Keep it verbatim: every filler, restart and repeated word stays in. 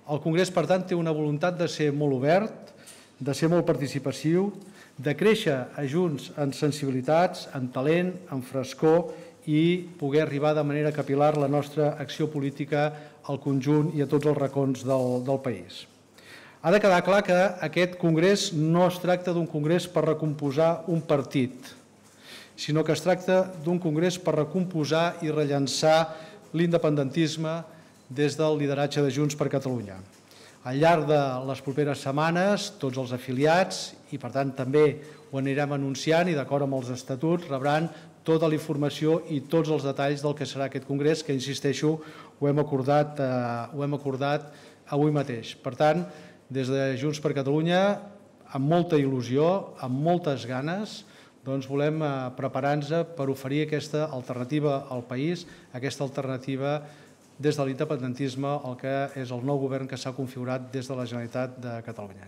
El Congrés, per tant, té una voluntat de ser molt obert, de ser molt participatiu, de créixer a Junts en sensibilitats, en talent, en frescor i poder arribar de manera capil·lar la nostra acció política al conjunt i a tots els racons del, del país. Ha de quedar clar que aquest Congrés no es tracta d'un Congrés per recomposar un partit, sinó que es tracta d'un Congrés per recomposar i rellançar l'independentisme des del lideratge de Junts per Catalunya. Al llarg de les properes setmanes, tots els afiliats, i per tant també ho anirem anunciant i d'acord amb els estatuts, rebran tota la informació i tots els detalls del que serà aquest Congrés, que, insisteixo, ho hem acordat, eh, ho hem acordat avui mateix. Per tant, des de Junts per Catalunya, amb molta il·lusió, amb moltes ganes, doncs volem eh, preparar-nos per oferir aquesta alternativa al país, aquesta alternativa des de l'independentisme, el que és el nou govern que s'ha configurat des de la Generalitat de Catalunya.